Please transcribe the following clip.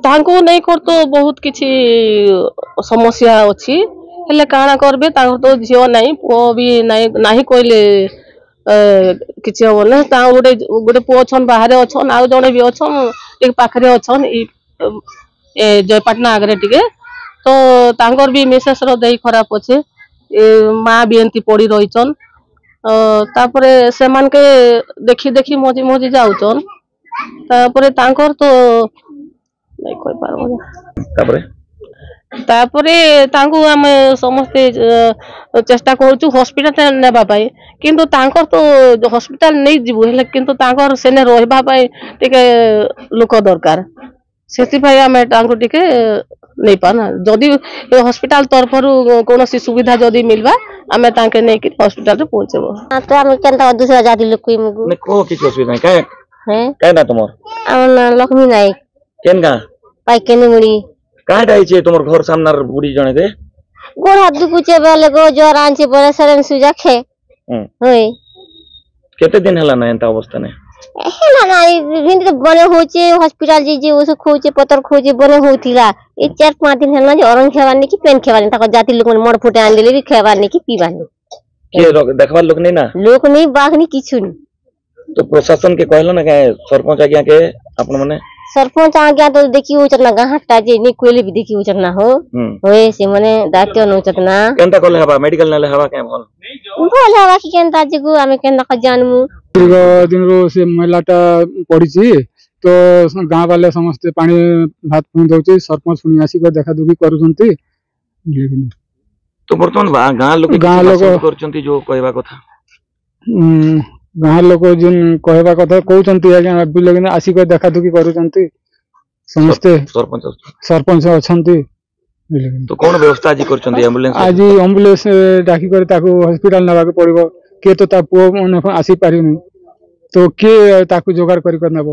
ତାଙ୍କୁ ନେଇକରି ତ ବହୁତ କିଛି ସମସ୍ୟା ଅଛି, ହେଲେ କାଣା କରବେ? ତାଙ୍କର ତ ଝିଅ ନାହିଁ, ପୁଅ ବି ନାହିଁ। ନାହିଁ କହିଲେ କିଛି ହବ ନା। ତା ଗୋଟେ ଗୋଟେ ପୁଅ ଅଛନ୍, ବାହାରେ ଅଛନ୍, ଆଉ ଜଣେ ବି ଅଛନ୍ ଟିକେ ପାଖରେ ଅଛନ୍, ଏ ଜୟପାଟଣା ଆଗରେ ଟିକେ। ତ ତାଙ୍କର ବି ମିସେସ୍ ର ଦେହ ଖରାପ ଅଛେ, ଏ ମା ବି ଏମିତି ପଡି ରହିଛନ୍। ତାପରେ ସେମାନକେ ଦେଖି ଦେଖି ମଜି ମଜି ଯାଉଛନ୍। ତାପରେ ତାଙ୍କର ତ ନାଇଁ କହିପାରବ। ତାପରେ ତାଙ୍କୁ ଆମେ ସମସ୍ତେ ଚେଷ୍ଟା କରୁଛୁ ହସ୍ପିଟାଲ ନେବା ପାଇଁ, କିନ୍ତୁ ତାଙ୍କର ତ ହସ୍ପିଟାଲ ନେଇଯିବୁ ହେଲେ, କିନ୍ତୁ ତାଙ୍କର ସେନେ ରହିବା ପାଇଁ ଟିକେ ଲୋକ ଦରକାର। ସେଥିପାଇଁ ଆମେ ତାଙ୍କୁ ଟିକେ ନେଇପାରୁନା। ଯଦି ହସ୍ପିଟାଲ ତରଫରୁ କୌଣସି ସୁବିଧା ଯଦି ମିଲବା, ଆମେ ତାଙ୍କେ ନେଇକି ହସ୍ପିଟାଲରେ ପହଞ୍ଚେଇବୁ। ତ ଆମେ କେନ୍ତା ଦୁସରା ଜାତି ଲୋକ କହିମୁ? ନାଇଁ, କହ, କିଛି ଅସୁବିଧା ନାଇଁ। କାଁ କାଁ ନା ତମର? ଆମ ନାଁ ଲକ୍ଷ୍ମୀ ନାୟକ। କେନ୍ ଗାଁ? ପାଇକେନିମୁଡ଼ି। କାଁଟା ହେଇছে ତମର ଘର ସାମ୍ନାର ବୁଢୀ ଜଣେ କେ? ଗୋଡ଼ ହାତ ଦୁଖୁଛେ ବେଲେ ଗୋ, ଜ୍ୱର ଆଣିছে ବଲେ ସେରେନ୍ ସୁଜା ଖେ ହଇ। କେତେ ଦିନ ହେଲା ନା ଏନ୍ତା ଅବସ୍ଥା ନାଇଁ? ହେଲା ନା, ଏମିତି ତ ବନେ ହଉଛେ। ହସ୍ପିଟାଲ ଯାଇ ଔଷଧ ଖୋଉଛେ, ପତର ଖୋଉଛେ, ବନେ ହଉଥିଲା। ଏ 4-5 ଦିନ ହେଲା ଯେ ଅରଙ୍ଗ ଖାଇବାର ନି କି ପେନ୍ ଖାଇବାର ନି। ତାଙ୍କ ଜାତି ଲୋକ ମଡ଼ ଫୁଟେ ଆଣିଦେଲେ ବି ଖାଇବାର ନି କି ପିଇବାର ନି। କିଏ ଦେଖବାର ଲୋକ ନେଇ ନା? ଲୋକ ନେଇ, ବାଘ ନି, କିଛି ନି। ତ ପ୍ରଶାସନ କେ କହିଲ ନା କାଁ, ସରପଞ୍ଚ ଆଜ୍ଞା କେ ଆପଣ ମାନେ? ସରପଞ୍ଚ ଆଜ୍ଞା ତ ଦେଖି ହଉଛନ୍ ନା, ଗାଁ ଟା ଯେ ନି କହିଲେ ବି ଦେଖି ହଉଛନ୍ ନା। ହୋ, ହୋଏ, ସେମାନେ ଦାୟିତ୍ୱ ନଉଛନ୍ ନା। କେନ୍ତା କଲେ ହେବା? ମେଡିକାଲ ନେଲେ ହେବା କେଁ? ଭଲ ଭଲ ହେବା କି କେନ୍ତା ଯିବୁ ଆମେ କେନ୍ତା ଜାନମୁ? ଦୀର୍ଘ ଦିନରୁ ସେ ମହିଳାଟା ପଡ଼ିଛି, ତ ଗାଁ ବାଲେ ସମସ୍ତେ ପାଣି ଭାତ ପୁଣି ଦଉଛି। ସରପଞ୍ଚ ପୁଣି ଆସିକି ଦେଖା ଦୁଖି କରୁଛନ୍ତି। ତ ବର୍ତ୍ତମାନ ଗାଁ ଲୋକ ଗାଁ ଲୋକ କରୁଛନ୍ତି ଯୋଉ କହିବା କଥା? ଗାଁ ଲୋକ ଯେନ୍ କହିବା କଥା କହୁଛନ୍ତି ଆଜ୍ଞା, ବୁଲେ ଆସିକି ଦେଖା ଦୁଖି କରୁଛନ୍ତି ସମସ୍ତେ। ସରପଞ୍ଚ ଅଛନ୍ତି। ତ କଣ ବ୍ୟବସ୍ଥା ଆଜି କରିଛନ୍ତି? ଆମ୍ବୁଲାନ୍ସ ଆଜି ଆମ୍ବୁଲାନ୍ସ ଡାକି କରି ତାକୁ ହସ୍ପିଟାଲ ନେବାକୁ ପଡିବ। କିଏ ତ ତା ପୁଅ ମାନେ ଆସିପାରିବନି, ତ କିଏ ତାକୁ ଯୋଗାଡ଼ କରି କରି ନେବ?